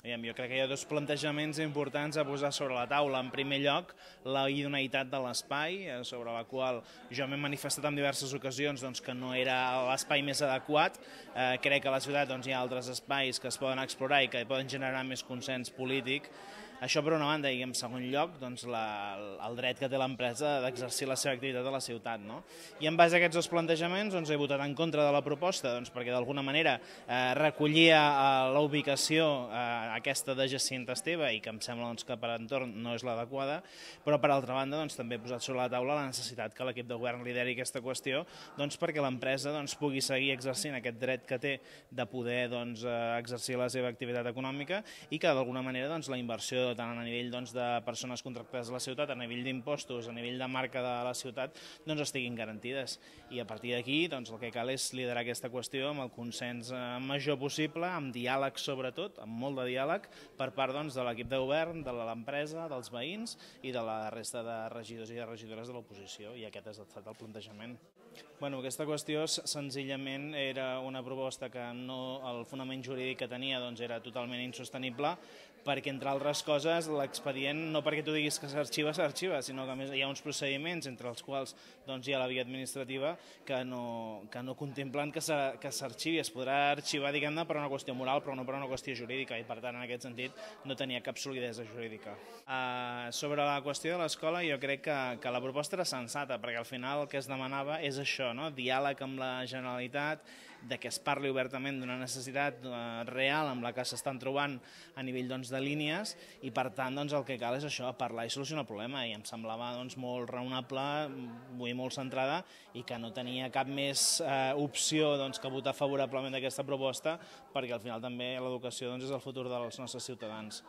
Jo crec que hi ha dos plantejaments importants a posar sobre la taula. En primer lloc, la idoneïtat de l'espai, sobre la qual jo m'he manifestat en diverses ocasions que no era l'espai més adequat. Crec que a la ciutat hi ha altres espais que es poden explorar i que poden generar més consens polític. Això per una banda, i en segon lloc, el dret que té l'empresa d'exercir la seva activitat a la ciutat. I en base a aquests dos plantejaments he votat en contra de la proposta perquè d'alguna manera recollia la ubicació aquesta de Jacint Esteve i que em sembla que per entorn no és l'adequada, però per altra banda també he posat sobre la taula la necessitat que l'equip de govern lideri aquesta qüestió perquè l'empresa pugui seguir exercint aquest dret que té de poder exercir la seva activitat econòmica i que d'alguna manera la inversió tant a nivell de persones contractades a la ciutat, a nivell d'impostos, a nivell de marca de la ciutat, estiguin garantides. I a partir d'aquí el que cal és liderar aquesta qüestió amb el consens major possible, amb diàleg sobretot, amb molt de diàleg, per part de l'equip de govern, de l'empresa, dels veïns i de la resta de regidors i de regidores de l'oposició, i aquest ha estat el plantejament. Aquesta qüestió senzillament era una proposta que el fonament jurídic que tenia era totalment insostenible, perquè, entre altres coses, l'expedient, no perquè tu diguis que s'arxiva, sinó que a més hi ha uns procediments, entre els quals hi ha la via administrativa, que no contemplen que s'arxivi. Es podrà arxivar, diguem-ne, per una qüestió moral, però no per una qüestió jurídica, i per tant, en aquest sentit, no tenia cap solidesa jurídica. Sobre la qüestió de l'escola, jo crec que la proposta era sensata, perquè al final el que es demanava és això, diàleg amb la Generalitat, que es parli obertament d'una necessitat real amb la que s'estan trobant a nivell de línies, i per tant el que cal és això, parlar i solucionar el problema, i em semblava molt raonable, molt centrada, i que no tenia cap més opció que votar favorablement d'aquesta proposta, perquè al final també l'educació és el futur dels nostres ciutadans.